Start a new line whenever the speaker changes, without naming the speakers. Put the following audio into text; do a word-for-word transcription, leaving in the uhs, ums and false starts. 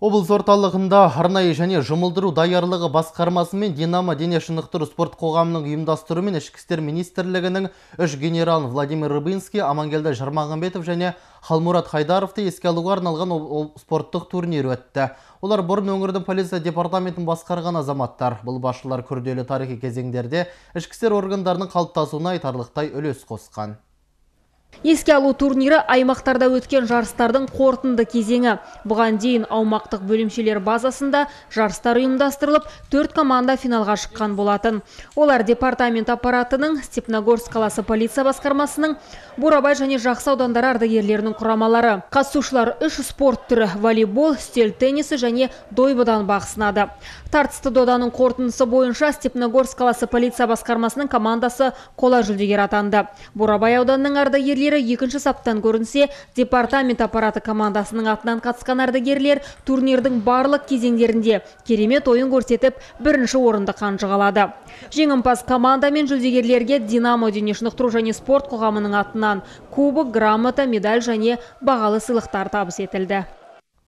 Облыс орталығында арнайы және жұмылдыру даярлығы басқармасы мен Динамо дене шынықтыру спорт қоғамының ұйымдастыруымен ішкі істер министрлігінің үш генералын Владимир Рыбинский, Амангелді Жармағанбетов және Халмурат Хайдаровты еске алуға арналған спорттық турнир өтті. Олар бұрын өңірдің полиция департаментін басқарған азаматтар. Бұл басшылар күрделі тарихи кезеңдерде ішкі істер органдарының қалыптасуына айтарлықтай үлес қосқан.
Еске алу турнирі аймақтарда өткен жарыстардың қорытынды кезеңі. Бұған дейін аумақтық бөлімшелер базасында жарыстар ұйымдастырылып, төрт команда финалға шыққан болатын. Олар департамент аппаратының, Степногорск қаласы полиция басқармасының, Бурабай және Жақсы аудандары ардагерлерінің құрамалары. Қатысушылар үш спорт түрі – волейбол, үстел теннисі және дойбыдан бақ сынады. Тартысты доданың қорытындысы бойынша Степногорск қаласы полиция басқармасының командасы қола жүлдегер атанды. Бурабай ауданының ардагерлері екінші саптан көрінсе, департамент аппараты командасының атынан қатысқан ардагерлер турнирдің барлық кезеңдерінде керемет ойын көрсетіп, бірінші орынды қанжығалады. Жеңімпаз команда мен жүлдегерлерге Динамо дене шынықтыру және спорт қоғамының атынан кубок, грамота, медаль және бағалы сыйлықтар табыс етілді.